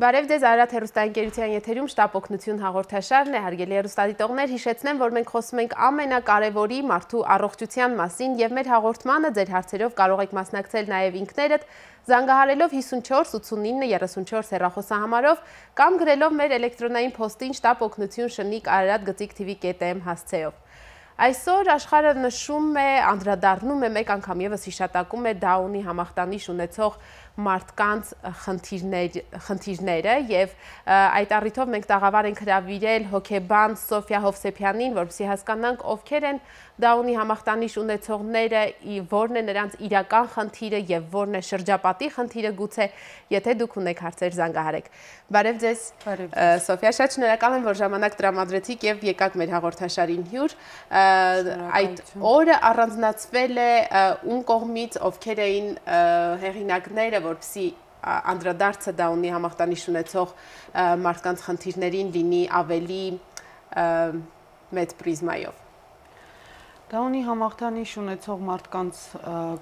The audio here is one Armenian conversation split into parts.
Բարև ձեզ Արարատ հեռուստաընկերության եթերում շտապ օգնություն հաղորդաշարն է, հարգելի հեռուստադիտողներ, հիշեցնեմ, որ մենք խոսում ենք ամենակարևորի մարդու առողջության մասին եւ մեր հաղորդմանը ձեր հարցերով կարող եք մասնակցել նաեւ ինքներդ, զանգահարելով 54 89 34 հեռախոսահամարով կամ գրելով մեր էլեկտրոնային փոստին շտապ օգնություն շնիկ ararat@tv.am հասցեով։ Այսօր աշխարհը նշում է, անդրադառնում է մեկ անգամ եւս հիշատակում է Դաունի համախտանիշ ունեցող մարդկանց խնդիրները եւ այդ առիթով մենք տաղավար ենք հրավիրել հոգեբան Սոֆիա Հովսեփյանին, որպեսզի հասկանանք ովքեր են Դաունի համախտանիշ ունեցողները, որն է նրանց իրական խնդիրը եւ որն է շրջապատի խնդիրը գուցե, եթե դուք ունեք հարցեր զանգահարեք։ Բարև ձեզ։ Սոֆիա, շատ շնորհակալ եմ, որ ժամանակ տրամադրեցիք եւ եկաք մեր հաղորդաշարին հյուր։ Այդ օրը առանձնացվել է ում կողմից, ովքեր էին հեղինակները, որպեսզի անդրադարձը Դաունի համախտանիշ ունեցող մարդկանց խնդիրներին լինի ավելի մեծ պրիզմայով։ Դաունի համախտանիշ ունեցող մարդկանց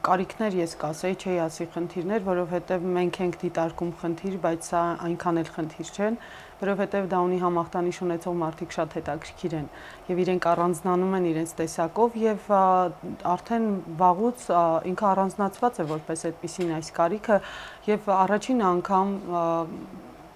կարիքներ ես կասեի, չէի ասի խնդիրներ, որովհետև մենք ենք դիտարկում խնդիր, բայց սա այնքան էլ խնդիր չեն, որովհետև Դաունի համախտանիշ ունեցող մարդիկ շատ հետաքրքիր են եւ իրենք առանձնանում են իրենց տեսակով եւ արդեն վաղուց ինքը առանձնացված է որպես այդպիսին այս կարիքը եւ առաջին անգամ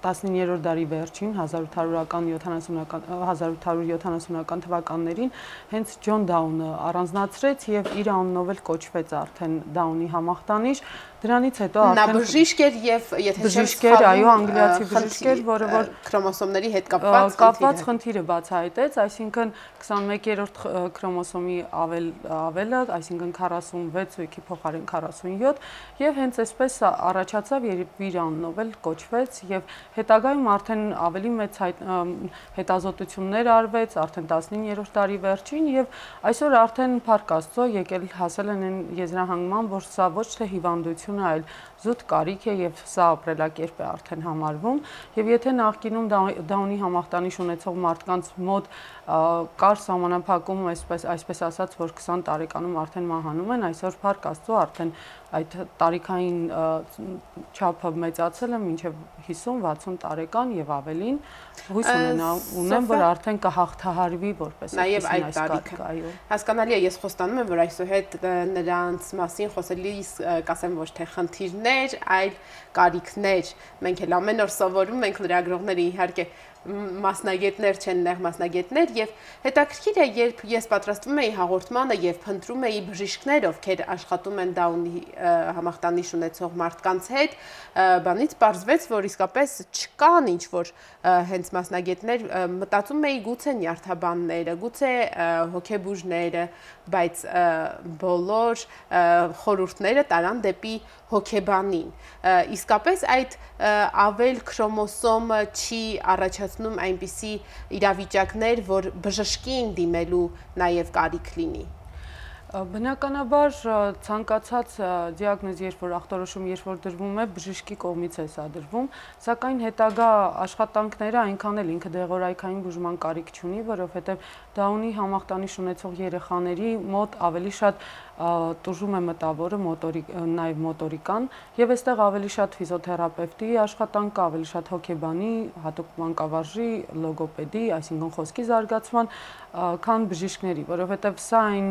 19-րդ դարի վերջին 1870-ական թվականներին հենց Ջոն Դաունը առանձնացրեց եւ իր անունով էլ կոչվեց արդեն Դաունի համախտանիշ։ Դրանից հետո արդեն նա բժիշկ էր եւ եթե բժիշկ էր, այո, անգլիացի բժիշկ էր, որը որ քրոմոսոմների հետ կապված խնդիրը բացահայտեց, այսինքն 21-րդ քրոմոսոմի ավելը, այսինքն 46 ուղիքի փոխարեն 47 եւ հենց այսպես առաջացավ եւ իր անունով էլ կոչվեց եւ հետագայում արդեն ավելի մեծ հետազոտություններ արվեց արդեն 19-րդ դարի վերջին եւ այսօր արդեն Փառք Աստծո եկել հասել են այն եզրահանգման, որ սա ոչ թե հիվանդություն այլ զուտ կարիք է եւ սա ապրելակերպ է արդեն համարվում եւ եթե նախկինում Դաունի համախտանիշ ունեցող մարդկանց մոտ կար սահմանափակում այսպես ասած որ 20 տարեկանում արդեն մահանում են այսօր Փառք Աստծո արդեն այդ տարիքային չափը մեծացել է մինչև 50-60 տարեկան եւ ավելին հույս ունեմ որ արդեն կհաղթահարվի որպես այս տարիքը այո հասկանալի է ես խոստանում եմ որ այսուհետ նրանց մասին խոսելիս կասեմ ոչ թե խնդիրներ այլ կարիքներ մենք էլ ամեն օր սովորում ենք լրագրողները իհարկե մասնագետներ չեն նեղ մասնագետներ եւ հետաքրքիր է երբ ես պատրաստվում էի հաղորդմանը եւ փնտրում էի բժիշկներ ովքեր աշխատում են Դաունի համախտանիշ ունեցող մարդկանց հետ բանից պարզվեց որ իսկապես չկան ինչ որ հենց մասնագետներ մտածում էի գուցե նյարդաբանները գուցե հոգեբուժները բայց բոլոր խորհուրդները տարան դեպի հոգեբանին իսկապես այդ ավել քրոմոսոմը չի առաջացնում այնպիսի իրավիճակներ, որ բժշկին դիմելու նաև կարիք լինի։ Բնականաբար ցանկացած դիագնոզ, երբ որ ախտորոշում երբ որ դրվում է, բժշկի կողմից է սա դրվում, սակայն հետագա աշխատանքները այնքան էլ ինքը դեղորայքային բուժման կարիք չունի, որովհետև Դաունի համախտանիշ ունեցող երեխաների մոտ ավելի շատ տուժում է մտավորը, նաև մոտորիկան, եւ այստեղ ավելի շատ ֆիզիոթերապևտի աշխատանք, ավելի շատ հոգեբանի, հատուկ մանկավարժի, լոգոպեդի, այսինքն խոսքի զարգացման, քան բժիշկների, որովհետեւ սա այն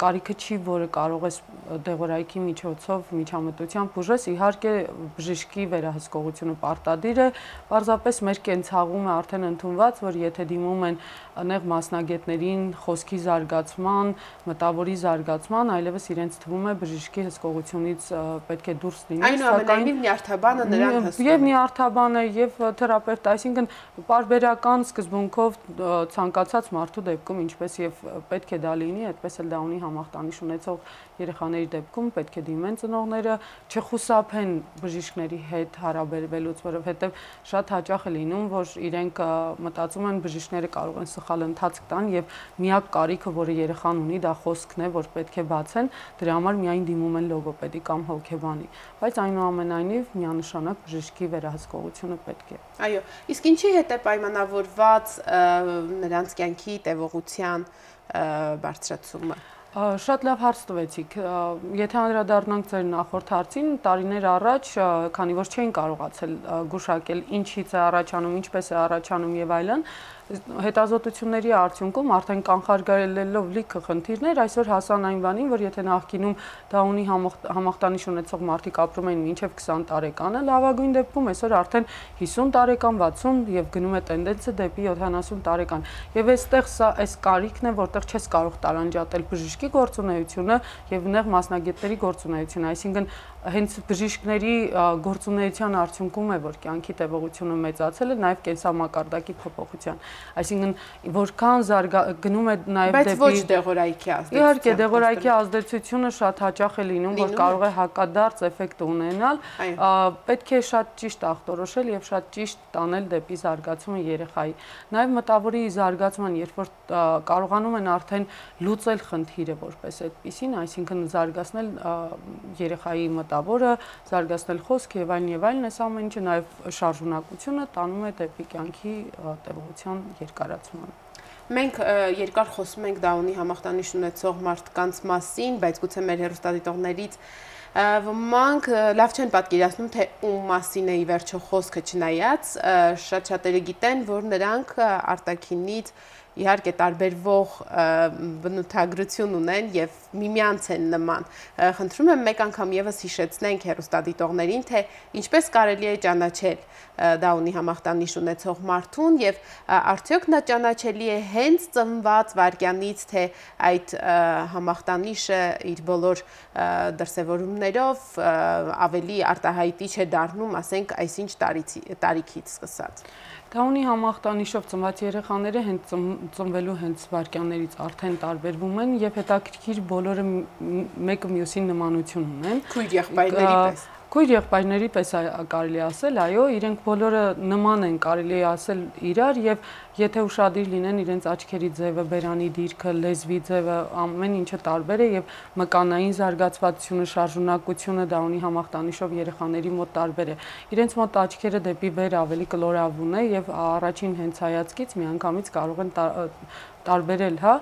կարիքը չի, որը կարող ես դեղորայքի միջոցով միջամտությամբ բուժես, իհարկե բժշկի վերահսկողությունը պարտադիր է, պարզապես մեր կենցաղում է արդեն ընդունված, որ եթե դիմում են նեղ մասնագետներին խոսքի զարգացման, մտավորի զարգացման, այլևս իրենց թվում է բժշկի հսկողությունից պետք է դուրս լինի, այնուամենայնիվ նյարդաբանը նրան հսկում է։ Եվ նյարդաբանը, եւ թերապևտը, այսինքն պարբերական սկզբունքով ցանկացած մարդու դեպքում, ինչպես եւ պետք է դա լինի, այդպես էլ Դաունի համախտանիշ ունեցող երեխաների դեպքում պետք է դիմեն ծնողները, չխուսափեն բժիշկների հետ հարաբերվելուց, որովհետեւ շատ հաճախ է լինում, որ իրենք մտածում են բժիշկները կարող են սխալ ընթացք տան եւ միակ կարիքը, որը երեխան ունի, դա խոսքն է, որ պետք է բացեն, դրա համար միայն դիմում են լոգոպեդի կամ հոգեբանի, բայց այնուամենայնիվ միանշանակ բժշկի վերահսկողությունը պետք է։ Այո, իսկ ինչի հետ է պայմանավորված նրանց կյանքի տևողության բարձրացումը։ Շատ լավ հարց տվեցիք։ Եթե անդրադառնանք ձեր նախորդ հարցին, տարիներ առաջ, քանի որ չէին կարողացել գուշակել ինչից է առաջանում, ինչպես է առաջանում եւ այլն, հետազոտությունների արդյունքում արդեն կանխարգելելով լիքը խնդիրներ, այսօր հասան այն բանին, որ եթե նախկինում դա ունի համախտանիշ ունեցող մարդիկ ապրում էին մինչև 20 տարեկանը, լավագույն դեպքում այսօր արդեն 50 տարեկան, 60 եւ գնում է տենդենսը դեպի 70 տարեկան։ Եվ այստեղ սա այս կարիքն է, որտեղ չես կարող տարանջատել բժշկի գործունեությունը եւ նեղ մասնագետների գործունեությունը, այսինքն հենց բժիշկների գործունեության արդյունքում է, որ կյանքի տևողությունը մեծացել է, նաև կենսամակարդակի փոփոխության։ Այսինքն, որքան գնում է նաև դեպի Բայց ոչ դեղորայքի ազդեցություն։ Իհարկե, դեղորայքի ազդեցությունը շատ հաճախ է լինում, որ կարող է հակադարձ էֆեկտ ունենալ, պետք է շատ ճիշտ ախտորոշել եւ շատ ճիշտ տանել դեպի զարգացումը երեխայի։ Նաև մտավորի զարգացման, երբ որ կարողանում են արդեն լուծել խնդիրը որպես այդպիսին, այսինքն զարգացնել երեխայի մտավորը, զարգացնել խոսքը եւ այլն, այս ամեն ինչը նաեւ շարժունակությունը տանում է դեպի կյանքի տևողության երկարացման։ Մենք երկար խոսում ենք Դաունի համախտանիշ ունեցող մարդկանց մասին, բայց գուցե մեր հեռուստադիտողներից ոմանք լավ չեն պատկերացնում, թե ում մասին է ի վերջո խոսքը, չնայած շատ-շատերը գիտեն, որ նրանք արտաքինից իհարկե տարբերվող բնութագրություն ունեն եւ միմյանց են նման։ Խնդրում եմ մեկ անգամ եւս հիշեցնենք հեռուստադիտողներին, թե ինչպես կարելի է ճանաչել Դաունի համախտանիշ ունեցող մարդուն եւ արդյոք նա ճանաչելի է հենց ծնված վայրկյանից, թե այդ համախտանիշը իր բոլոր դրսևորումներով ավելի արտահայտիչ է դառնում, ասենք, այսինչ տարիքից սկսած։ Դաունի համախտանիշով ծնված երեխաները հենց ծնվելու հենց վայրկյաններից արդեն տարբերվում են եւ հետաքրքիր բոլորը մեկը մյուսին նմանություն ունեն։ Քույր եղբայրների պես։ Քույր եղբայրների պես կարելի ասել, այո, իրենք բոլորը նման են, կարելի ասել իրար եւ եթե ուշադիր լինեն իրենց աչքերի ձևը, բերանի դիրքը, լեզվի ձևը, ամեն ինչը տարբեր է եւ մկանային զարգացվածությունը, շարժունակությունը Դաունի համախտանիշով երեխաների մոտ տարբեր է։ Իրենց մոտ աչքերը դեպի վեր ավելի կլորավուն է եւ առաջին հենց հայացքից միանգամից կարող են տարբերել, հա։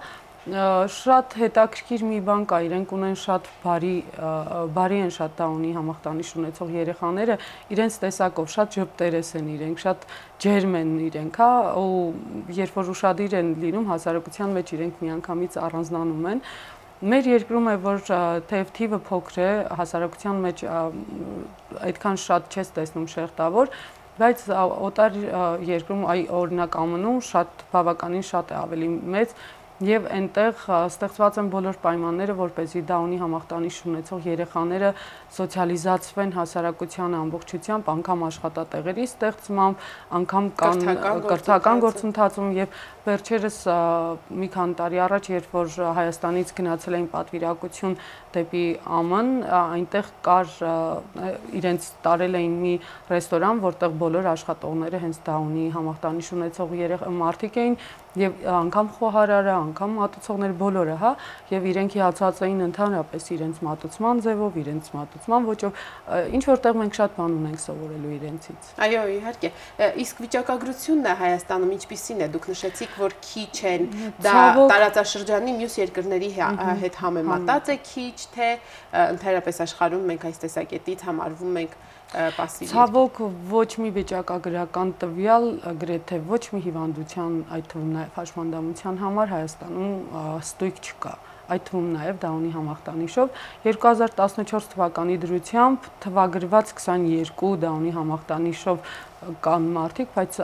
Շատ հետաքրքիր մի բան կա, իրենք ունեն շատ բարի են շատ Դաունի համախտանիշ ունեցող երեխաները, իրենց տեսակով շատ ժպտերես են իրենք, շատ ջերմ են իրենք, հա, ու երբ որ ուշադիր են լինում հասարակության մեջ իրենք միանգամից առանձնանում են։ Մեր երկրում է, որ թեև թիվը փոքր է, հասարակության մեջ այդքան շատ չես տեսնում շերտավոր, բայց օտար երկրում, օրինակ ԱՄՆ-ում շատ բավականին շատ է ավելի մեծ եւ այնտեղ ստեղծված են բոլոր պայմանները, որպեսզի Դաունի համախտանիշ ունեցող երեխաները սոցիալիզացվեն հասարակության ամբողջությամբ, անգամ աշխատատեղերի ստեղծմամբ, անգամ կրթական գործընթացում եւ վերջերս մի քանի տարի առաջ, երբ որ Հայաստանից գնացել էին պատվիրակություն դեպի ԱՄՆ, այնտեղ կար իրենց տարել էին մի ռեստորան, որտեղ բոլոր աշխատողները հենց Դաունի համախտանիշ ունեցող մարդիկ էին եւ անգամ խոհարարը, անգամ մատուցողներ բոլորը, հա, եւ իրենք հիացած էին ընդհանրապես իրենց մատուցման ձևով, իրենց մատուցման ոճով, ինչ որտեղ մենք շատ բան ունենք սովորելու իրենցից։ Այո, իհարկե։ Իսկ վիճակագրությունն է Հայաստանում ինչպիսին է։ Դուք նշեցիք, որ քիչ են, դա տարածաշրջանի մյուս երկրների հետ համեմատած է քիչ, թե ընդհանրապես աշխարհում մենք այս տեսակետից համարվում ենք պասիվ։ Ցավոք ոչ մի վիճակագրական տվյալ, գրեթե ոչ մի հիվանդության, այդ թվում նաև հաշմանդամության համար Հայաստանում ստույգ չկա։ Այդ թվում նաև Դաունի համախտանիշով 2014 թվականի դրությամբ թվագրված 22 Դաունի համախտանիշով կան մարդիկ, բայց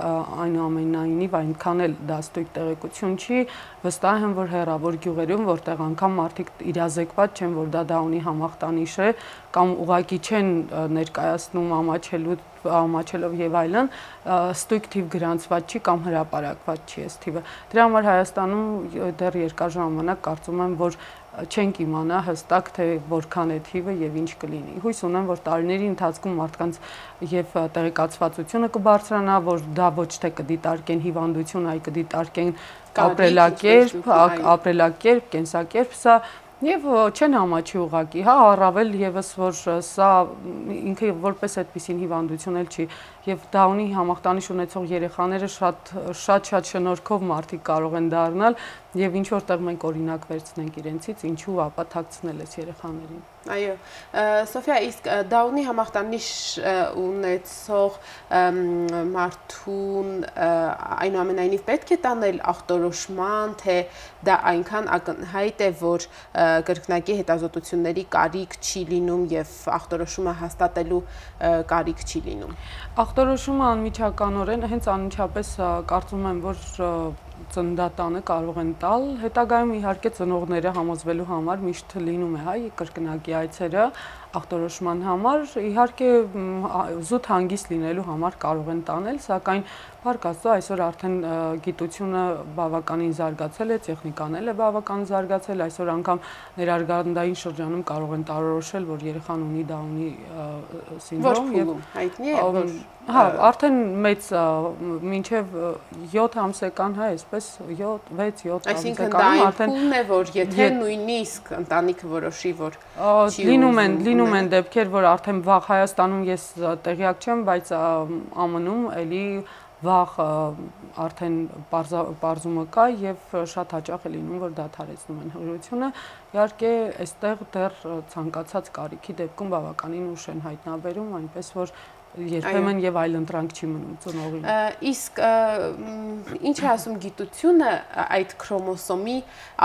այնուամենայնիվ այնքան էլ դա ստույգ տեղեկություն չի, վստահ եմ, որ հեռավոր գյուղերում, որտեղ անգամ մարդիկ իրազեկված չեն, որ դա Դաունի համախտանիշ է, կամ ուղղակի չեն ներկայացնում ամաչելով եւ այլն, ստույգ թիվ գրանցված չի կամ հրապարակված չի այս թիվը։ Դրա համար Հայաստանում դեռ երկար ժամանակ կարծում եմ, որ չենք իմանա հստակ, թե որքան է թիվը եւ ինչ կլինի։ Հույս ունեմ, որ տարիների ընթացքում մարդկանց եւ տեղեկացվածությունը կբարձրանա, որ դա ոչ թե կդիտարկեն հիվանդություն, այլ կդիտարկեն ապրելակերպ, կենսակերպ, սա եւ չեն համաչի ուղակի, հա, առավել եւս որ սա ինքը որպես այդպիսին հիվանդություն էլ չի եւ Դաունի համախտանիշ ունեցող երեխաները շատ շնորհքով մարդիկ կարող են դառնալ եւ ինչ որտեղ մենք օրինակ վերցնենք իրենցից, ինչու ապա թաքցնել ես երեխաներին։ Այո, Սոֆիա, իսկ դա ունի համախտանիշ ունեցող մարդուն այնուամենայնիվ պետք է տանել ախտորոշման, թե դա այնքան ակնհայտ է, որ կրկնակի հետազոտությունների կարիք չի լինում եւ ախտորոշումը հաստատելու կարիք չի լինում։ Ախտորոշումը անմիջականորեն հենց անմիջապես կարծում եմ, որ ծննդատանը կարող են տալ, հետագայում իհարկե ծնողները համոզվելու համար միշտ լինում է, կրկնակի այցերը ախտորոշման համար, իհարկե զուտ հանգիստ լինելու համար կարող են տանել, սակայն Փառք Աստծո, այսօր արդեն գիտությունը բավականին զարգացել է, տեխնիկան էլ է բավականին զարգացել, այսօր անգամ ներարգանդային շրջանում կարող են տարորոշել, որ երեխան ունի Դաունի սինդրոմ եւ հայտնի է, որ արդեն մեծ մինչև 7 ամսական, այսպես 6-7 ամսական արդեն փուլն է, որ եթե նույնիսկ ընտանիքը որոշի, որ լինում են դեպքեր, որ արդեն վաղ Հայաստանում ես տեղյակ չեմ, բայց ԱՄՆ-ում էլի վաղ արդեն պարզումը կա եւ շատ հաճախ է լինում, որ դադարեցնում են հղիությունը։ Իհարկե, այստեղ դեռ ցանկացած կարիքի դեպքում բավականին ուշ են հայտնաբերում, այնպես որ երբեմն եւ այլ ընտրանք չի մնում ծնողին։ Իսկ ինչ է ասում գիտությունը այդ քրոմոսոմի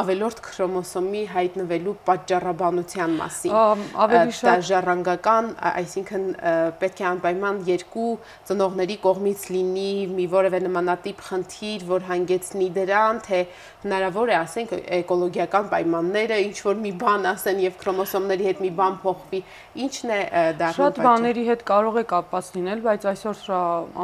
ավելորդ քրոմոսոմի հայտնվելու պատճառաբանության մասին։ Ավելի շատ ժառանգական, այսինքն պետք է անպայման երկու ծնողների կողմից լինի մի որևէ նմանատիպ խնդիր, որ հանգեցնի դրան, թե հնարավոր է, ասենք, էկոլոգիական պայմանները ինչ որ մի բան ասեն եւ քրոմոսոմների հետ մի բան փոխվի, ինչն է դառնում։ Շատ բաների հետ կարող է կապված լինել, բայց այսօր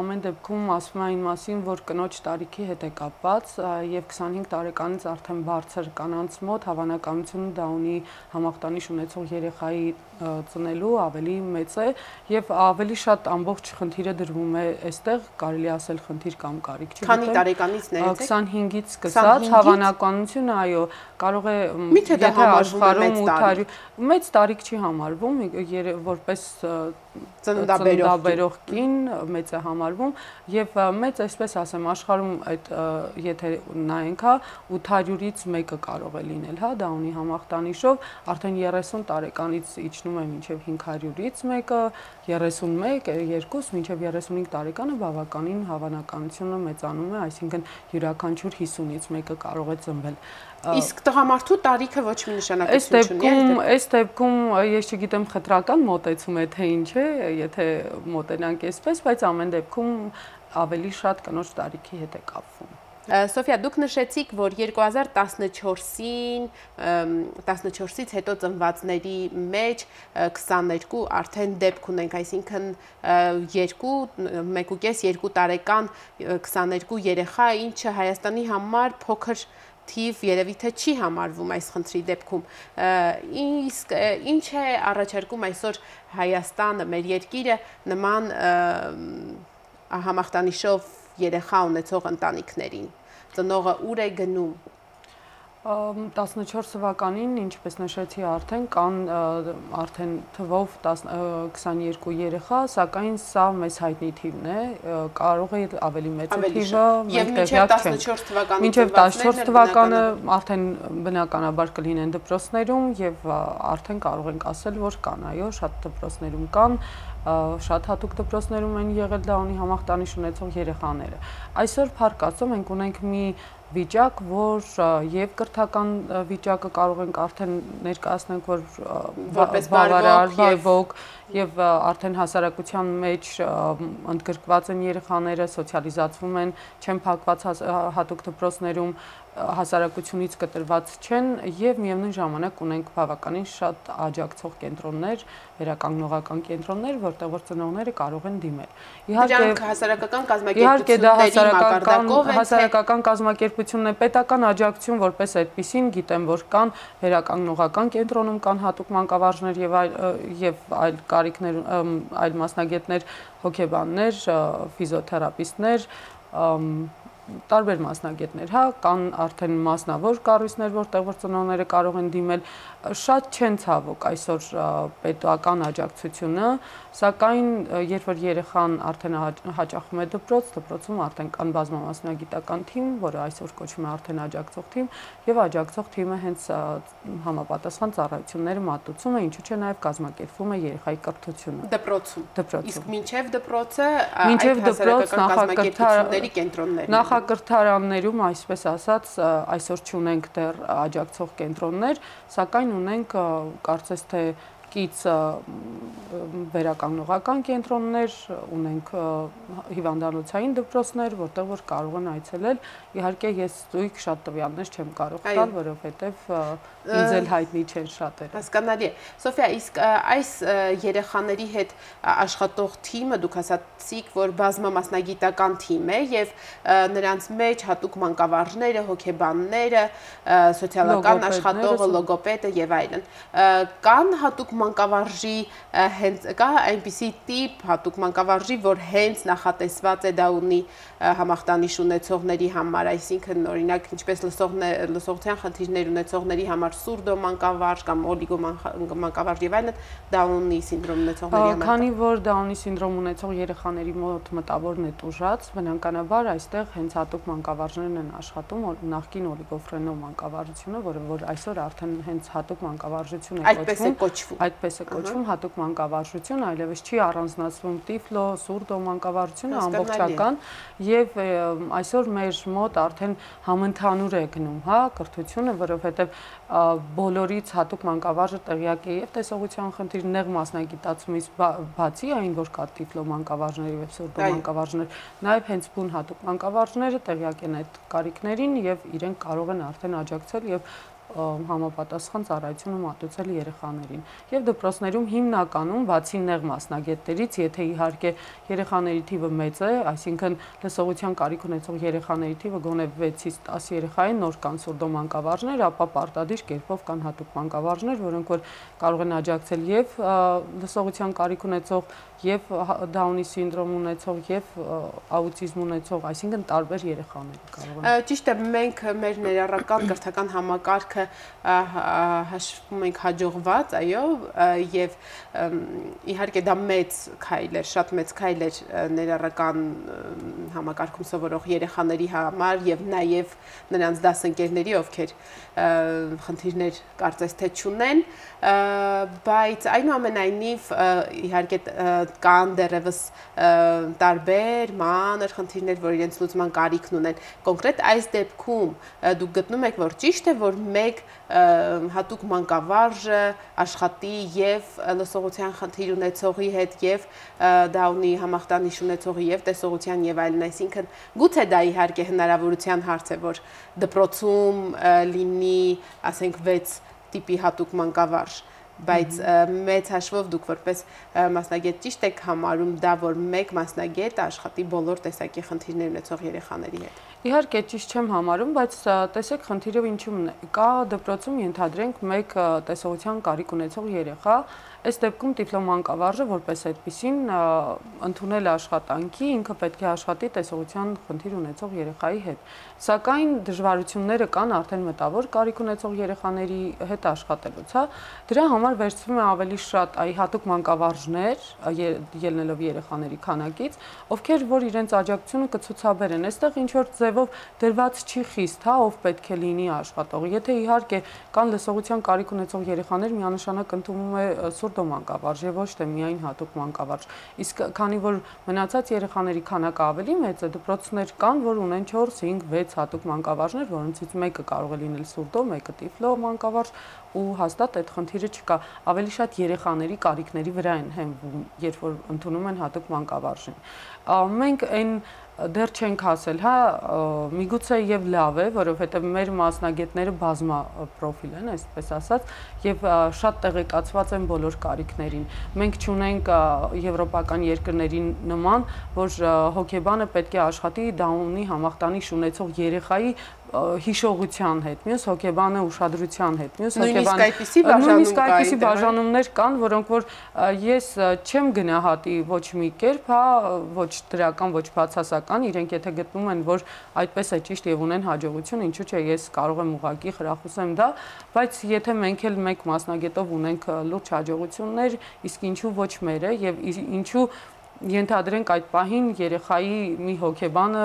ամեն դեպքում ասվում է այն մասին, որ կնոջ տարիքի հետ է կապված եւ 25 տարեկանից արդեն բարձր կանանց մոտ հավանականությունը Դաունի համախտանիշ ունեցող երեխայի ծնելու ավելի մեծ է եւ ավելի շատ ամբողջ խնդիրը դրվում է այստեղ, կարելի ասել խնդիր կամ կարիք չի։ Քանի տարեկանից ներեցեք։ 25-ից սկսած հավանականությունը, այո, կարող է եթե աշխարհում 800 մեծ տարիք չի համարվում, որպես ծննդաբերող կին մեծ է համարվում եւ մեծ, այսպես ասեմ, աշխարհում այդ եթե նայենք, 800-ից մեկը կարող է լինել, Դաունի համախտանիշով, արդեն 30 տարեկանից իջնում է մինչև 500-ից մեկը, 31, 2 մինչև 35 տարեկանը բավականին հավանականությունը մեծանում է, այսինքն յուրաքանչյուր 50-ից մեկը կարող է ծնվել։ Իսկ տղամարդու տարիքը ոչ մի նշանակություն չունի։ Այս դեպքում ես չգիտեմ խտրական մոտեցում է թե ինչ է, եթե մոտենանք այսպես, բայց ամեն դեպքում ավելի շատ կնոջ տարիքի հետ է կապվում։ Սոֆիա, դուք նշեցիք, որ 2014-ից հետո ծնվածների մեջ 22 արդեն դեպք ունենք, այսինքն 1.5-2 տարեկան 22 երեխա, ինչը Հայաստանի համար փոքր թիվ երևի թե չի համարվում այս խնդրի դեպքում։ Իսկ ինչ է առաջարկում այսօր Հայաստանը, մեր երկիրը նման համախտանիշով երեխա ունեցող ընտանիքներին, ծնողը ուր է գնում։ 14 թվականին, ինչպես նշեցի արդեն, կան արդեն թվով 22 երեխա, սակայն սա մեզ հայտնի թիվն է, կարող է ավելի մեծ թիվը, մենք տեղյակ չենք։ Մինչև 14 թվականը արդեն բնականաբար կլինեն դպրոցներում եւ արդեն կարող ենք ասել, որ կան, այո, շատ դպրոցներում կան, շատ հատուկ դպրոցներում են եղել Դաունի համախտանիշ ունեցող երեխաները։ Այսօր Փառք Աստծո մենք ունենք մի վիճակ, որ եւ կրթական վիճակը կարող ենք արդեն ներկայացնենք, որ որպես բարվոք եւ արդեն հասարակության մեջ ընդգրկված են երեխաները, սոցիալիզացվում են, չեն փակված հատուկ դպրոցներում, հասարակությունից կտրված չեն եւ միևնույն ժամանակ ունենք բավականին շատ աջակցող կենտրոններ, վերականգնողական կենտրոններ, որտեղ որ ծնողները կարող են դիմել։ Իհարկե հասարակական կազմակերպությունների մակարդակով են, հասարակական կազմակերպությունն է, պետական աջակցություն որպես այդպիսին, գիտեմ, որ կան վերականգնողական կենտրոնում կան հատուկ մանկավարժներ եւ այլ կարիքներ, այլ մասնագետներ, հոգեբաններ, ֆիզիոթերապիստներ, տարբեր մասնագետներ, հա, կան արդեն մասնավոր կառույցներ, որտեղ որ ծնողները կարող են դիմել, շատ չեն ցավոք այսօր պետական աջակցությունը, սակայն երբ որ երեխան արդեն հաճախում է դպրոց, դպրոցում արդեն կան բազմամասնագիտական թիմ, որը այսօր կոչվում է արդեն աջակցող թիմ, եւ աջակցող թիմը հենց համապատասխան ծառայությունները մատուցում է, ինչու՞ չէ նաեւ կազմակերպվում է երեխայի կրթությունը դպրոցում։ Իսկ մինչև դպրոցը մինչև դպրոց կազմակերպությունների կենտրոններն նախակրթարաններում, այսպես ասած, այսօր չունենք դեռ աջակցող կենտրոններ, սակայն ունենք կարծես թե կից վերականգնողական կենտրոններ, ունենք հիվանդանոցային դպրոցներ, որտեղ որ կարող են այցելել։ Իհարկե ես զույգ շատ տվյալներ չեմ կարող տալ, որովհետև ինձ էլ հայտնի չեն շատերը։ Հասկանալի է։ Սոֆիա, իսկ այս երեխաների հետ աշխատող թիմը դուք ասացիք, որ բազմամասնագիտական թիմ է եւ նրանց մեջ հատուկ մանկավարժները, հոգեբանները, սոցիալական աշխատողը, լոգոպեդը եւ այլն։ Կան հատուկ մանկավարժի հենց կա այնպիսի տիպ հատուկ մանկավարժի, որ հենց նախատեսված է դա ունի համախտանիշ ունեցողների համար, այսինքն օրինակ ինչպես լսողության խնդիրներ ունեցողների համար սուրդո մանկավարժ կամ օլիգո մանկավարժ եւ այլն, Դաունի սինդրոմ ունեցողների համար։ Քանի որ Դաունի սինդրոմ ունեցող երեխաների մոտ մտավորն է տուժած, բնականաբար այստեղ հենց հատուկ մանկավարժներն են աշխատում, նախկին օլիգոֆրենով մանկավարժությունը, որը որ այսօր արդեն հենց հատուկ մանկավարժություն է կոչվում։ Այդպես է կոչվում հատուկ մանկավարժություն, այլևս չի առանձնացվում տիֆլո, սուրդո մանկավարժությունը ամբողջական եւ այսօր մեր մոտ արդեն համընդհանուր է գնում, հա, կրթությունը, որովհետեւ բոլորից հատուկ մանկավարժը տեղյակ է եւ տեսողության խնդիր նեղ մասնագիտացումից բացի այն, որ կա տիֆլո մանկավարժներ եւ սուրդո մանկավարժներ, նաեւ հենց բուն հատուկ մանկավարժները տեղյակ են այդ կարիքներին եւ իրենք կարող են արդեն աջակցել եւ համապատասխան ծառայությունը մատուցել երեխաներին։ Եվ դպրոցներում հիմնականում բացի նեղ մասնագետներից, եթե իհարկե երեխաների թիվը մեծ է, այսինքն լսողության կարիք ունեցող երեխաների թիվը գոնե 6-ից 10 երեխա են, նոր կան սուրդո մանկավարժներ, ապա պարտադիր կերպով կան հատուկ մանկավարժներ, որոնք որ կարող են աջակցել եւ լսողության կարիք ունեցող, եւ Դաունի սինդրոմ ունեցող, եւ աուտիզմ ունեցող, այսինքն տարբեր երեխաներ կարող են։ Ճիշտ է, մենք մեր ներառական կրթական համակարգը հաշվում ենք հաջողված, այո, եւ իհարկե դա մեծ քայլ էր, շատ մեծ քայլ էր ներառական համակարգում սովորող երեխաների համար եւ նաեւ նրանց դասընկերների, ովքեր խնդիրներ կարծես թե չունեն, բայց այնուամենայնիվ իհարկե կան դեռևս տարբեր մանր խնդիրներ, որ իրենց լուծման կարիքն ունեն։ Կոնկրետ այս դեպքում դուք գտնում եք, որ ճիշտ է, որ մեկ հատուկ մանկավարժը աշխատի եւ լսողության խնդիր ունեցողի հետ եւ Դաունի համախտանիշ ունեցողի եւ տեսողության եւ այլն, այսինքն գուցե դա իհարկե հնարավորության հարց է, որ դպրոցում լինի, ասենք 6 տիպի հատուկ մանկավարժ, բայց մեծ հաշվով դուք որպես մասնագետ ճիշտ եք համարում դա, որ մեկ մասնագետ աշխատի բոլոր տեսակի խնդիրներ ունեցող երեխաների հետ։ Իհարկե ճիշտ չեմ համարում, բայց տեսեք խնդիրը ինչու՞մն է։ Կա դպրոցում ենթադրենք մեկ տեսողության կարիք ունեցող երեխա, այս դեպքում տիֆլո մանկավարժը որպես այդպիսին ընդունել աշխատանքի, ինքը պետք է աշխատի տեսողության խնդիր ունեցող երեխայի հետ։ Սակայն դժվարությունները կան արդեն մտավոր կարիք ունեցող երեխաների հետ աշխատելուց, հա։ Դրա համար վերցվում է ավելի շատ հատուկ մանկավարժներ, ելնելով երեխաների քանակից, ովքեր որ իրենց աջակցությունը կցուցաբերեն։ Այստեղ ինչ որ ձևով դրված չի խիստ, հա, ով պետք է լինի աշխատող։ Եթե իհարկե կան լսողության կարիք ունեցող երեխաներ, միանշանակ ընդունվում է սուրդո մանկավարժ եւ ոչ թե միայն հատուկ մանկավարժ։ Իսկ քանի որ մնացած երեխաների քանակը ավելի մեծ է, դպրոցներ կան, որ ունեն 4, 5, 6 հատուկ մանկավարժներ, որոնցից մեկը կարող է լինել սուրդո, մեկը տիֆլո մանկավարժ, ու հաստատ այդ խնդիրը չկա։ Ավելի շատ երեխաների կարիքների վրա են հենվում, երբ որ ընդունում են հատուկ մանկավարժին։ Մենք այն դեռ չենք հասել, հա, միգուցե եւ լավ է, որովհետեւ մեր մասնագետները բազմապրոֆիլ են, այսպես ասած, եւ շատ տեղեկացված են բոլոր կարիքներին։ Մենք չունենք եվրոպական երկրների նման, որ հոգեբանը պետք է աշխատի Դաունի համախտանիշ ունեցող երեխայի հիշողության հետ, մյուս հոգեբանը ուշադրության հետ, մյուս հոգեբանը նույնիսկ այդպիսի բաժանումներ կան, որոնք որ ես չեմ գնահատի ոչ մի կերպ, հա, ոչ դրական, ոչ բացասական, իրենք եթե գտնում են, որ այդպես է ճիշտ եւ ունեն հաջողություն, ինչու՞ չէ, ես կարող եմ ուղղակի խրախուսեմ դա, բայց եթե մենք էլ մեկ մասնագետով ունենք լուրջ հաջողություններ, իսկ ինչու ոչ մերը եւ ինչու ենթադրենք այդ պահին երեխայի մի հոգեբանը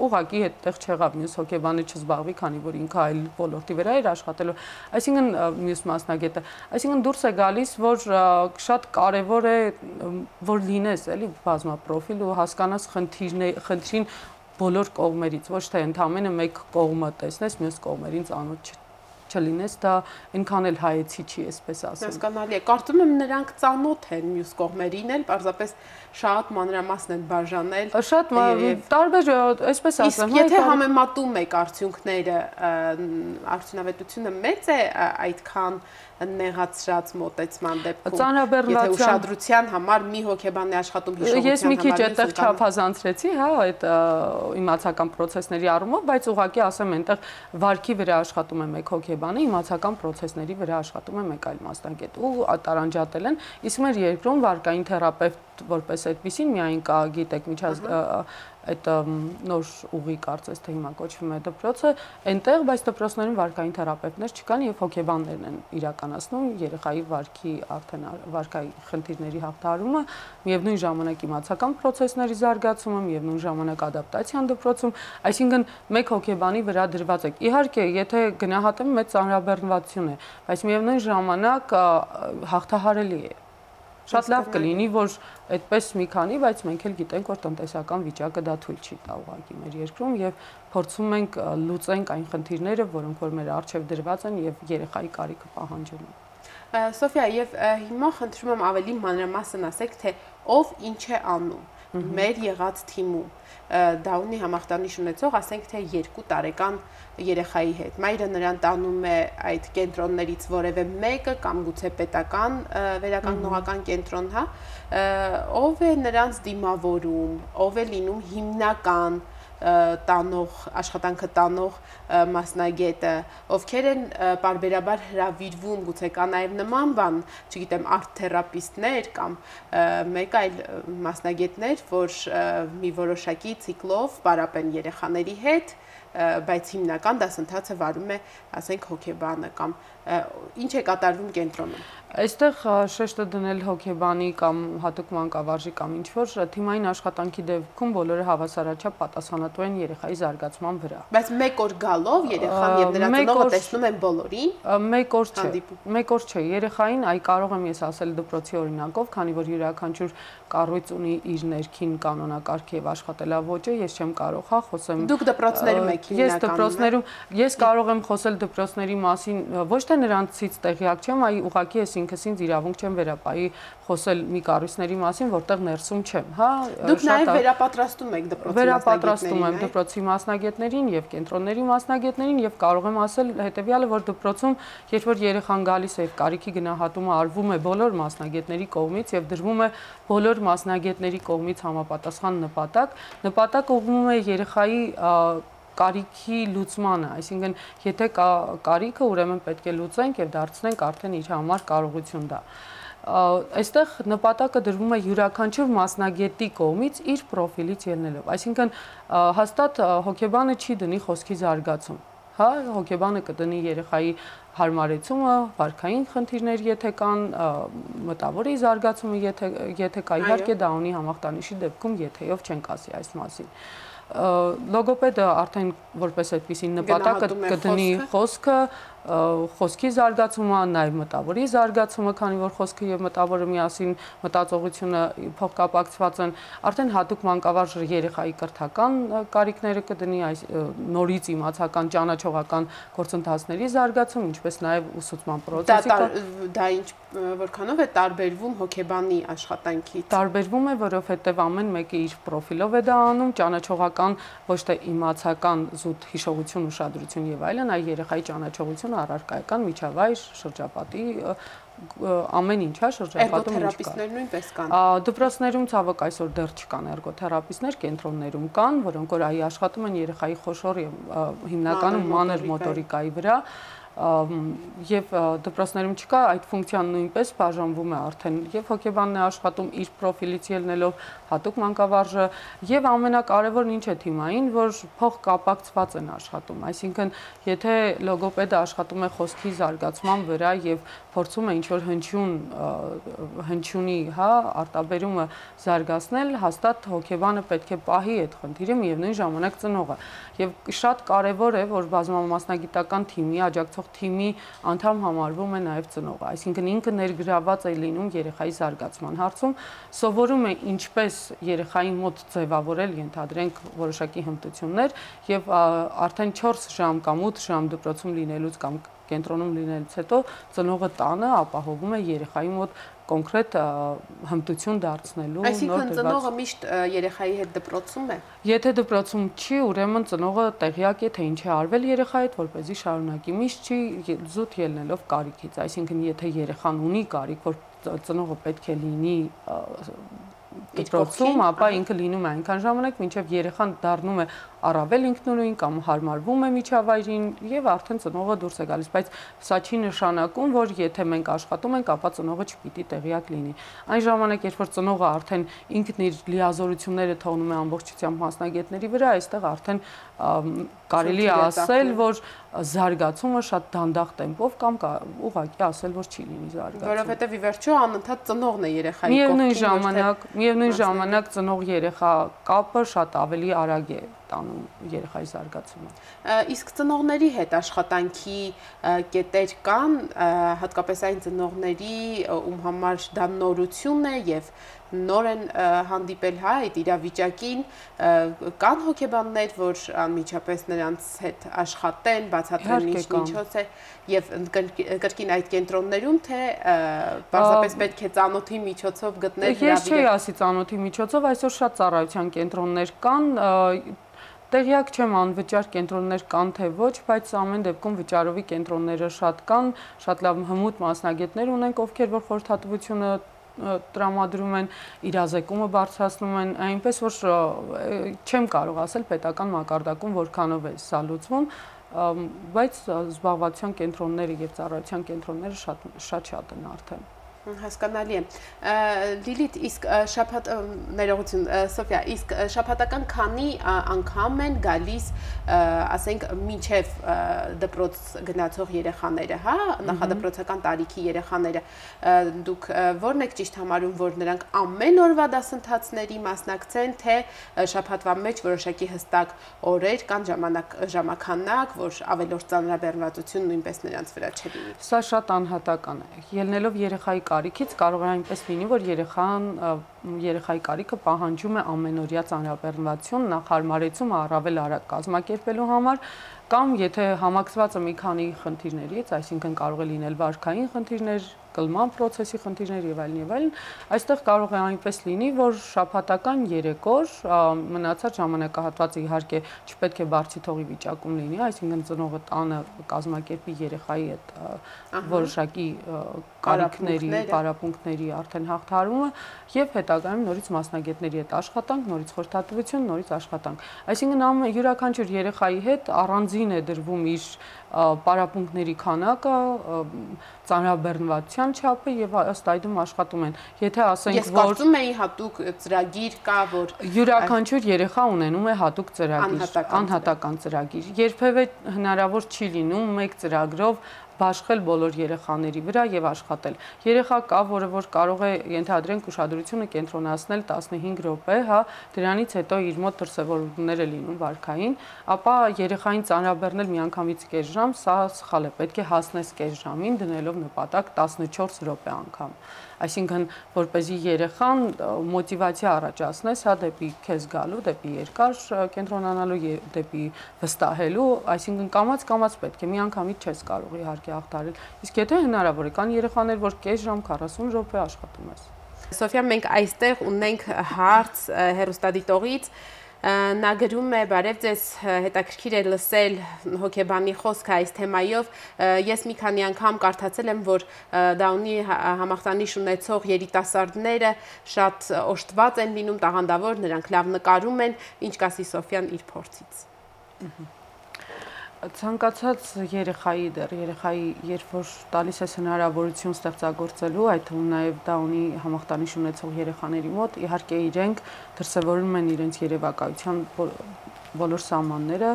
ուղղակի հետտեղ չեղավ, մյուս հոգեբանը չզբաղվի, քանի որ ինքը այլ ոլորտի վրա էր աշխատելու, այսինքն մյուս մասնագետը, այսինքն դուրս է գալիս, որ շատ կարևոր է, որ լինես էլի բազմապրոֆիլ ու հասկանաս խնդրին բոլոր կողմերից, ոչ թե ընդամենը մեկ կողմը տեսնես, մյուս կողմերին ծանոթ չլինես, դա այնքան էլ հայեցի չի, այսպես ասեմ։ Հասկանալի է, կարծում եմ նրանք ծանոթ են մյուս կողմերին էլ, պարզապես շատ մանրամասն են բաժանել։ Շատ տարբեր, այսպես ասեմ, իսկ եթե համեմատում եք արդյունքները, արդյունավետությունը մեծ է այդքան նեղացրած մոտեցման դեպքում, եթե ուշադրության համար մի հոգեբան է աշխատում հիշողության համար։ Ես մի քիչ այդտեղ չափազանցրեցի, հա, այդ իմացական process-ների առումով, բայց ուղղակի ասեմ, այնտեղ վարքի վրա աշխատում է մեկ հոգեբանը, իմացական process-ների վրա աշխատում է մեկ այլ մասնագետ ու տարանջատել են, իսկ մեր երկրում վարկային թերապևտ որպես այդպեսին միայն կա, գիտեք, այդ նոր ուղի կարծես թե հիմա կոչվում է դպրոցը, այնտեղ, բայց դպրոցներում վարկային թերապևտներ չկան եւ հոգեբաններն են իրականացնում երեխայի վարքի արդեն վարկայի խնդիրների հաղթահարումը, միևնույն ժամանակ իմացական process-ների զարգացումը, միևնույն ժամանակ ադապտացիան դպրոցում, այսինքն մեկ հոգեբանի վրա դրված է։ Իհարկե, եթե գնահատեմ մեծ ծանրաբեռնվածություն է, բայց միևնույն ժամանակ հաղթահարելի է։ Շատ լավ կլինի, որ այդպես մի քանի, բայց մենք էլ գիտենք, որ տնտեսական վիճակը դա թույլ չի տա ուղղակի մեր երկրում եւ փորձում ենք լուծենք այն խնդիրները, որոնք որ մեր առջև դրված են եւ երեխայի կարիքը պահանջում են։ Սոֆիա, եւ հիմա խնդրում եմ ավելի մանրամասն ասեք, թե ով ինչ է անում մեր եղած թիմում։ Դա ունի համախտանիշ ունեցող, ասենք թե 2 տարեկան երեխայի հետ։ Մայրը նրան տանում է այդ կենտրոններից որևէ մեկը կամ գուցե պետական վերականգնողական կենտրոն, հա, ով է նրանց դիմավորում, ով է լինում հիմնական տանող, աշխատանքը տանող մասնագետը, ովքեր են պարբերաբար հրավիրվում, գուցե կա նաև նման բան, չգիտեմ, արտ-թերապիստներ կամ մեկ այլ մասնագետներ, որ մի որոշակի ցիկլով պարապեն երեխաների հետ, բայց հիմնական դասընթացը վարում է, ասենք, հոգեբանը կամ ինչ է կատարվում կենտրոնում։ Այստեղ շեշտը դնել հոգեբանի կամ հատուկ մանկավարժի կամ ինչ-որ թիմային աշխատանքի դեպքում բոլորը հավասարաչափ պատասխանատու են երեխայի զարգացման վրա։ Բայց մեկ օր գալով երեխան եւ նրա ծնողը տեսնում են բոլորին։ Մեկ օր չէ, երեխային այ կարող եմ ես ասել դպրոցի օրինակով, քանի որ յուրաքանչյուր կառույց ունի իր ներքին կանոնակարգ եւ աշխատելավոճը, ես չեմ կարող հա խոսեմ։ Դուք դպրոցներում եք հիմնականում։ Ես կարող եմ խոսել դպրոցների մասին, ոչ թե նրանցից տեղյակ չեմ, այ ուղղակի ես ինքս ինձ իրավունք չեմ վերապայի խոսել մի կառույցների մասին, որտեղ ներսում չեմ, հա։ Դուք նաև վերապատրաստում եք դպրոցի մասնագետներին։ Վերապատրաստում եմ դպրոցի մասնագետներին եւ կենտրոնների մասնագետներին եւ կարող եմ ասել հետեւյալը, որ դպրոցում, երբ որ երեխան գալիս է եւ կարիքի գնահատումը արվում է բոլոր մասնագետների կողմից եւ դրվում է բոլոր մասնագետների կողմից համապատասխան նպատակը ուղղվում է երեխայի կարիքի լուծմանը, այսինքն եթե կա կարիքը, ուրեմն պետք է լուծենք եւ դարձնենք արդեն իր համար կարողություն դա։ Այստեղ նպատակը դրվում է յուրաքանչյուր մասնագետի կողմից իր պրոֆիլից ելնելով, այսինքն հաստատ հոգեբանը չի դնի խոսքի զարգացում, հա, հոգեբանը կդնի երեխայի հարմարեցումը, վարքային խնդիրներ եթե կան, մտավորի զարգացումը եթե կա, իհարկե դա ունի համախտանիշի դեպքում եթեով չենք ասի այս մասին։ Լոգոպեդը արդեն որպես այդպիսի նպատակ կդնի խոսքի զարգացումը, նաև մտավորի զարգացումը, քանի որ խոսքը եւ մտավորը միասին մտածողությունը փոխկապակցված են, արդեն հատուկ մանկավարժ երեխայի կրթական կարիքները կդնի, այս նորից իմացական ճանաչողական գործընթացների զարգացում, ինչպես նաև ուսուցման պրոցեսի։ Դա ինչ որքանով է տարբերվում հոգեբանի աշխատանքից։ Տարբերվում է, որովհետև ամեն մեկը իր պրոֆիլով է դա անում, ճանաչողական ոչ թե իմացական զուտ հիշողություն, ուշադրություն եւ այլն, այլ երեխայի ճանաչողությունը առարկայական միջավայր, շրջապատի ամեն ինչ է շրջապատում ինչ կա։ Էրգոթերապիստներ նույնպես կան։ Դպրոցներում ցավոք այսօր դեռ չկան էրգոթերապիստներ, կենտրոններում կան, որոնք որ աշխատում են երեխայի խոշոր հիմնականում մանր մոտորիկայի վրա, եւ դպրոցներում չկա, այդ ֆունկցիան նույնպես բաժանվում է արդեն եւ հոգեբանն է աշխատում իր պրոֆիլից ելնելով հատուկ մանկավարժը եւ ամենակարևորն ինչ է թիմային, որ փոխկապակցված են աշխատում, այսինքն եթե լոգոպեդը աշխատում է խոսքի զարգացման վրա եւ փորձում է ինչ-որ հնչյունի, արտաբերումը զարգացնել, հաստատ հոգեբանը պետք է պահի այդ խնդիրը միևնույն ժամանակ ծնողը եւ շատ կարեւոր է, որ բազմամասնագիտական թիմի աջակցող թիմի անդամ համարվում է նաև ծնողը, այսինքն ինքը ներգրաված է լինում երեխայի զարգացման հարցում, սովորում է ինչպես երեխային մոտ ձևավորել, ենթադրենք որոշակի հմտություններ եւ արդեն 4 ժամ կամ 8 ժամ դպրոցում լինելուց կամ կենտրոնում լինելուց հետո ծնողը տանը ապահովում է երեխայի մոտ կոնկրետ հմտություն դարձնելու նոր դրված։ Այսինքն ծնողը միշտ երեխայի հետ դպրոցում է։ Եթե դպրոցում չի, ուրեմն ծնողը տեղյակ է, թե ինչ է արվել երեխայի հետ, որպեսզի շարունակի։ Միշտ չի զուտ ելնելով կարիքից, այսինքն եթե երեխան ունի կարիք, որ ծնողը պետք է լինի դպրոցում, ապա ինքը լինում է այնքան ժամանակ, մինչև երեխան դառնում է առավել ինքնուրույն կամ հարմարվում է միջավայրին եւ արդեն ծնողը դուրս է գալիս, բայց սա չի նշանակում, որ եթե մենք աշխատում ենք, ապա ծնողը չպիտի տեղյակ լինի։ Այն ժամանակ, երբ որ ծնողը արդեն ինքն իր լիազորությունները թողնում է ամբողջությամբ մասնագետների վրա, այստեղ արդեն կարելի է ասել, որ զարգացումը շատ դանդաղ տեմպով կամ ուղղակի ասել, որ չի լինի զարգացում։ Որովհետև ի վերջո անընդհատ ծնողն է երեխայի Միևնույն ժամանակ ծնող-երեխա կապը շատ ավելի արագ է տանում երեխայի զարգացումը։ Իսկ ծնողների հետ աշխատանքի կետեր կան, հատկապես այն ծնողների, ում համար դա նորություն է եւ նոր են հանդիպել այդ իրավիճակին, կան հոգեբաններ, որ անմիջապես նրանց հետ աշխատեն, բացատրեն ինչ միջոց է եւ կրկին այդ կենտրոններում, թե պարզապես պետք է ծանոթի միջոցով գտնել հրավիրել։ Ես չի ասի ծանոթի միջոցով, այսօր շատ ծառայության կենտրոններ կան, տեղյակ չեմ անվճար կենտրոններ կան թե ոչ, բայց ամեն դեպքում վճարովի կենտրոնները շատ կան, շատ լավ հմուտ մասնագետներ ունենք, ովքեր որ խորհրդատվությունը տրամադրում են, իրազեկումը բարձրացնում են, այնպես որ չեմ կարող ասել պետական մակարդակում որքանով է սա լուծվում, բայց զբաղվածության կենտրոնները եւ ծառայության կենտրոնները շատ են արդեն։ Հասկանալի է։ Լիլիթ, իսկ ներողություն, Սոֆիա, իսկ շաբաթական քանի անգամ են գալիս, ասենք, մինչև դպրոց գնացող երեխաները, նախադպրոցական տարիքի երեխաները, դուք ո՞րն եք ճիշտ համարում, որ նրանք ամեն օրվա դասընթացների մասնակցեն, թե շաբաթվա մեջ որոշակի հստակ օրեր կան ժամականակ, որ ավելորդ ծանրաբեռնվածություն նույնպես նրանց վրա չլինի։ Սա շատ անհատական է։ Ելնելով երեխայի կարիքից կարող է այնպես լինի, որ երեխայի կարիքը պահանջում է ամենօրյա ծանրաբեռնվածություն, նախարարեցում առավել արագ կազմակերպելու համար, կամ եթե համակցված է մի քանի խնդիրներից, այսինքն կարող է լինել վարքային խնդիրներ, կլման process-ի խնդիրներ եւ այլն, այստեղ կարող է այնպես լինի, որ շաբաթական 3 օր մնացած ժամանակահատվածը իհարկե չպետք է բարձի թողի վիճակում լինի, այսինքն ծնողը տանը կազմակերպի երեխայի հետ որոշակի կարիքների, պարապմունքների արդեն հաղթահարումը եւ հետագայում նորից մասնագետների հետ աշխատանք, նորից խորհրդատվություն, նորից աշխատանք։ Այսինքն յուրաքանչյուր երեխայի հետ առանձին է դրվում իր պարապմունքների քանակը, ծանրաբեռնվածության չափը եւ ըստ այդմ աշխատում են։ Եթե ասենք, որ ես կարծում եի հատուկ ծրագիր կա, որ յուրաքանչյուր երեխա ունենում է հատուկ ծրագիր, անհատական ծրագիր։ Երբևէ հնարավոր չի լինում մեկ ծրագրով բաշխել բոլոր երեխաների վրա եւ աշխատել։ Երեխա կա, որը որ կարող է ենթադրենք ուշադրությունը կենտրոնացնել 15 րոպե, դրանից հետո իր մոտ դրսևորումներ է լինում վարքային, ապա երեխային ծանրաբեռնել միանգամից կես ժամ, սա սխալ է, պետք է հասնես կես ժամին դնելով նպատակ 14 րոպե անգամ։ Այսինքն, որպեսզի երեխան մոտիվացիա առաջացնես, դեպի քեզ գալու, դեպի երկար կենտրոնանալու, դեպի վստահելու, այսինքն կամաց պետք է միանգամից չես կարող իհարկե հաղթահարել։ Իսկ եթե հնարավոր է, կան երեխաներ, որ կես ժամ 40 րոպե աշխատում ես։ Սոֆիա, մենք այստեղ ունենք հարց հեռուստադիտողից, Նա գրում է, բարև ձեզ, հետաքրքիր է լսել հոգեբանի խոսքը այս թեմայով, ես մի քանի անգամ կարդացել եմ, որ Դաունի համախտանիշ ունեցող երիտասարդները շատ օժտված են լինում, տաղանդավոր, նրանք լավ նկարում են, ինչ կասի Սոֆյան իր փորձից։ Ցանկացած երեխայի երբ որ տալիս ես հնարավորություն ստեղծագործելու, այդ թվում նաև Դաունի համախտանիշ ունեցող երեխաների մոտ, իհարկե իրենք դրսևորում են իրենց երևակայության բոլոր սահմանները,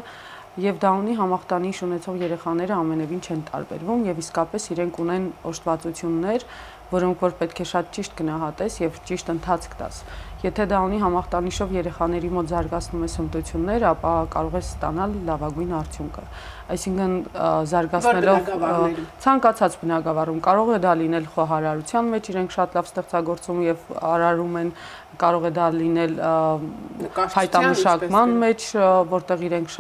եւ Դաունի համախտանիշ ունեցող երեխաները ամենևին չեն տարբերվում եւ իսկապես իրենք ունեն օժտվածություններ, որոնք որ պետք է շատ ճիշտ գնահատես եւ ճիշտ ընթացք տաս։ Եթե Դաունի համախտանիշով երեխաների մոտ զարգացնում ես հմտություններ, ապա կարող ես ստանալ լավագույն արդյունքը։ Այսինքն զարգացնելով ցանկացած բնագավառում կարող է դա լինել խոհարարության մեջ, իրենք շատ լավ ստեղծագործում եւ արարում են, կարող է դա լինել հայտանշակման մեջ, որտեղ իրենք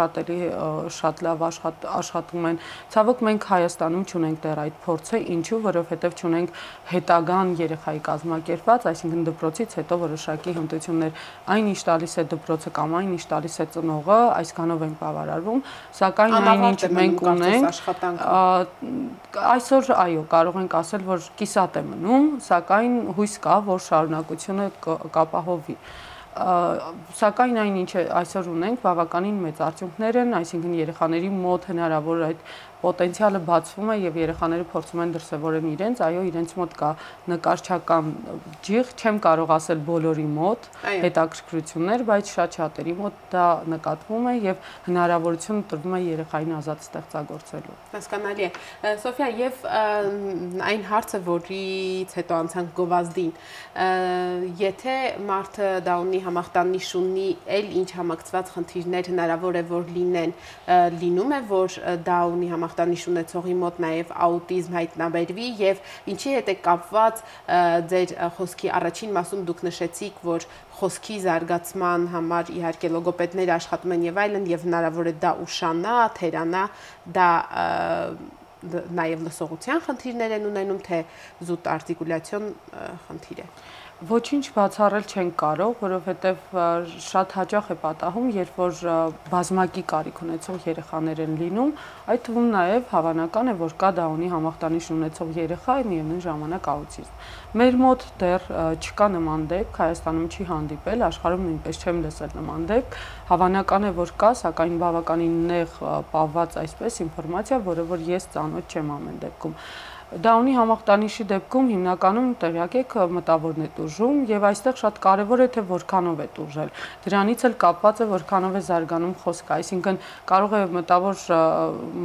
շատ լավ աշխատում են։ Ցավոք մենք Հայաստանում չունենք դեռ այդ փորձը, ինչու, որովհետեւ չունենք հետագան երեխայի կազմակերպված, այսինքն դպրոցից հետո որոշակի հմտություններ, այնինչ տալիս է դպրոցը կամ այնինչ տալիս է ծնողը, այսքանով ենք բավարարվում, սակայն այնինչ մենք ունենք, այսօր այո, կարող ենք ասել, որ կիսատ է մնում, սակայն հույս կա, որ շարունակությունը կապահովվի։ Սակայն այնինչ այսօր ունենք բավականին մեծ արդյունքներ են, այսինքն երեխաների մոտ հնարավոր այդ պոտենցիալը բացվում է եւ երեխաները փորձում են դրսեւորեն իրենց, այո, իրենց մոտ կա նկարչական ջիղ, չեմ կարող ասել բոլորի մոտ հետաքրքրություններ, բայց շատ-շատերի մոտ դա նկատվում է եւ հնարավորություն տրվում է երեխային ազատ ստեղծագործելու։ Հասկանալի է։ Սոֆիա, եւ այն հարցը, որից հետո անցանք գովազդին, եթե մարդը Դաունի համախտանիշ ունի, էլ ինչ համակցված խնդիրներ հնարավոր է որ լինեն, լինում է որ Դաունի համախտանիշ ունեցողի մոտ նաև աուտիզմ հայտնաբերվի եւ ինչի հետ է կապված ձեր խոսքի առաջին մասում դուք նշեցիք, որ խոսքի զարգացման համար իհարկե լոգոպեդները աշխատում են եւ այլն եւ հնարավոր է դա ուշանա, թերանա, դա նաև լսողության խնդիրներ են ունենում, թե զուտ արտիկուլյացիոն խնդիր է։ Ոչինչ բացառել չենք կարող, որովհետև շատ հաճախ է պատահում, երբ որ բազմակի կարիք ունեցող երեխաներ են լինում, այդ թվում նաև հավանական է, որ կա Դաունի համախտանիշ ունեցող երեխա, միևնույն ժամանակ աուտիզմ։ Մեր մոտ դեռ չկա նման դեպք, Հայաստանում չի հանդիպել, աշխարհում նույնպես չեմ լսել նման դեպք, հավանական է, որ կա, սակայն բավականին նեղ պահված այսպես ինֆորմացիա, որը որ ես ծանոթ չեմ ամեն դեպքում։ Դաունի համախտանիշի դեպքում հիմնականում տեղյակ եք մտավորն է տուժում եւ այստեղ շատ կարեւոր է թե որքանով է տուժել։ Դրանից էլ կապված է որքանով է զարգանում խոսքը, այսինքն կարող է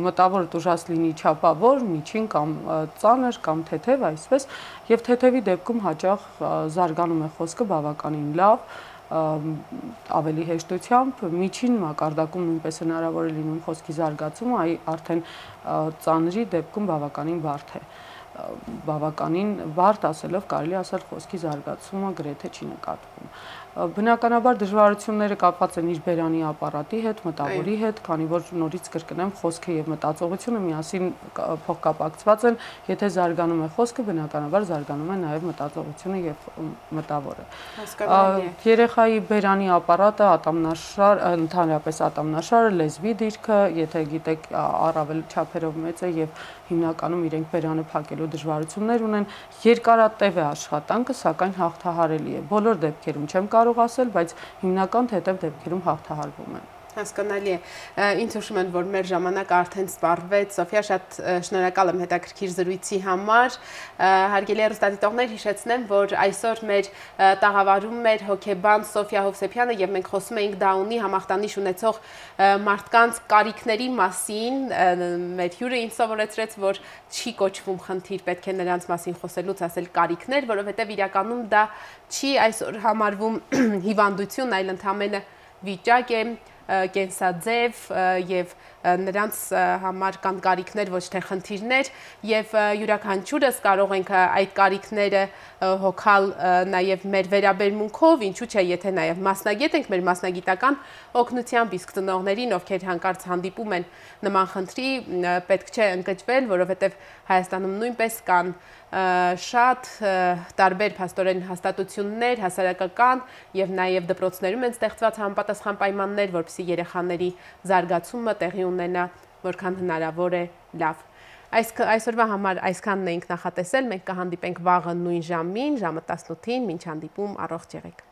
մտավորը տուժած լինի չափավոր, միջին կամ ծանր կամ թեթև, այսպես, եւ թեթևի դեպքում հաճախ զարգանում է խոսքը բավականին լավ, ավելի հեշտությամբ, միջին մակարդակում նույնպես հնարավոր է լինում խոսքի զարգացումը, արդեն ծանրի դեպքում բավականին բարդ է։ Բավականին բարդ ասելով կարելի ասել խոսքի զարգացումը գրեթե չի նկատվում։ Բնականաբար դժվարությունները կապված են իր բերանի ապարատի հետ, մտավորի հետ, քանի որ նորից կրկնեմ, խոսքը եւ մտածողությունը միասին փոխկապակցված են, եթե զարգանում է խոսքը, բնականաբար զարգանում է նաեւ մտածողությունը եւ մտավորը։ Երեխայի բերանի ապարատը, ատամնաշար, ընդհանրապես ատամնաշարը, լեզվի դիրքը, եթե գիտեք, առավել չափերով մեծ է եւ հիմնականում իրենք բերանը փակելու դժվարություններ ունեն, երկարատև է աշխատանքը, սակայն հաղթահարելի է։ Բոլոր դեպքերում չեմ կարող ասել, բայց հիմնական թեթև դեպքերում հաղթահարվում են։ Հասկանալի է։ Ինձ հուշում են, որ մեր ժամանակը արդեն սպառվեց։ Սոֆիա, շատ շնորհակալ եմ հետաքրքիր զրույցի համար։ Հարգելի հեռուստադիտողներ, հիշեցնեմ, որ այսօր մեր տաղավարում էր հոգեբան Սոֆիա Հովսեփյանը եւ մենք խոսում էինք Դաունի համախտանիշ ունեցող մարդկանց կարիքների մասին։ Մեր հյուրը ինձ սովորեցրեց, որ չի կոչվում խնդիր, պետք է նրանց մասին խոսելուց ասել կարիքներ, որովհետեւ իրականում դա չի այսօր համարվում հիվանդություն, այլ ընդհանրապես վիճակ է, կենսաձև եւ նրանց համար կան կարիքներ, ոչ թե խնդիրներ, եւ յուրաքանչյուրս կարող ենք այդ կարիքները հոգալ նաեւ մեր վերաբերմունքով, ինչու՞ չէ, եթե նաեւ մասնագետ ենք, մեր մասնագիտական օգնությամբ, իսկ ծնողներին, ովքեր հանկարծ հանդիպում են նման խնդրի, պետք չէ ընկճվել, որովհետեւ Հայաստանում նույնպես կան շատ տարբեր փաստորեն հաստատություններ, հասարակական եւ նաեւ դպրոցներում են ստեղծված համապատասխան պայմաններ, որպեսզի երեխաների զարգացումը տեղի ունենա որքան հնարավոր է լավ։ Այսօրվա համար այսքանն էինք նախատեսել, մենք կհանդիպենք վաղը նույն ժամին, ժամը 18-ին, մինչ հանդիպում, առողջ եղեք։